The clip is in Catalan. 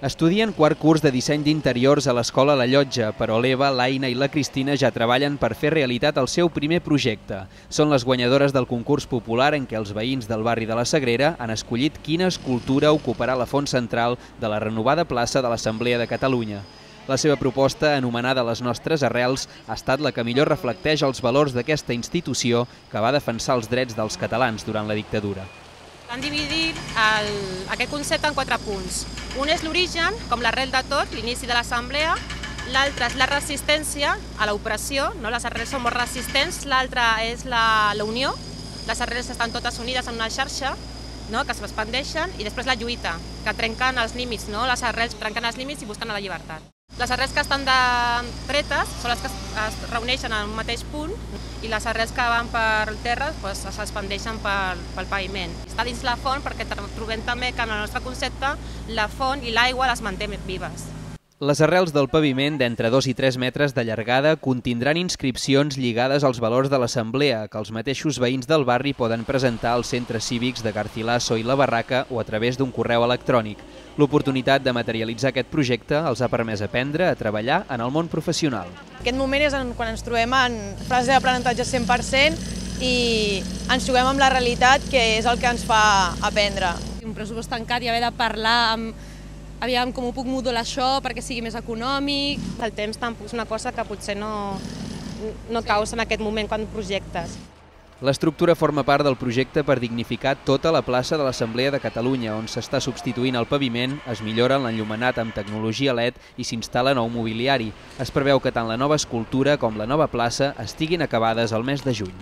Estudien quart curs de disseny d'interiors a l'Escola La Llotja, però l'Eva, l'Aina i la Cristina ja treballen per fer realitat el seu primer projecte. Són les guanyadores del concurs popular en què els veïns del barri de la Sagrera han escollit quina escultura ocuparà la font central de la renovada plaça de l'Assemblea de Catalunya. La seva proposta, anomenada Les nostres arrels, ha estat la que millor reflecteix els valors d'aquesta institució que va defensar els drets dels catalans durant la dictadura. Han dividit aquest concepte en 4 punts. Un és l'origen, com l'arrel de tot, l'inici de l'assemblea. L'altre és la resistència a l'opressió, les arrels són molt resistents. L'altre és la unió, les arrels estan totes unides en una xarxa que s'expandeixen. I després la lluita, que trenquen els límits, les arrels trenquen els límits i busquen la llibertat. Les arrels que estan dretes són les que es reuneixen en un mateix punt i les arrels que van per terra s'expandeixen pel paviment. Està dins la font perquè trobem també que en el nostre concepte la font i l'aigua les manté vives. Les arrels del paviment d'entre 2 i 3 metres de llargada contindran inscripcions lligades als valors de l'Assemblea que els mateixos veïns del barri poden presentar als centres cívics de Garcilaso i la Barraca o a través d'un correu electrònic. L'oportunitat de materialitzar aquest projecte els ha permès aprendre a treballar en el món professional. Aquest moment és quan ens trobem en fase d'aprenentatge 100% i ens juguem amb la realitat, que és el que ens fa aprendre. Un pressupost tancat i haver de parlar aviam com ho puc modular això perquè sigui més econòmic. El temps tampoc és una cosa que potser no causa en aquest moment quan projectes. L'estructura forma part del projecte per dignificar tota la plaça de l'Assemblea de Catalunya, on s'està substituint el paviment, es millora l'enllumenat amb tecnologia LED i s'instal·la nou mobiliari. Es preveu que tant la nova escultura com la nova plaça estiguin acabades al mes de juny.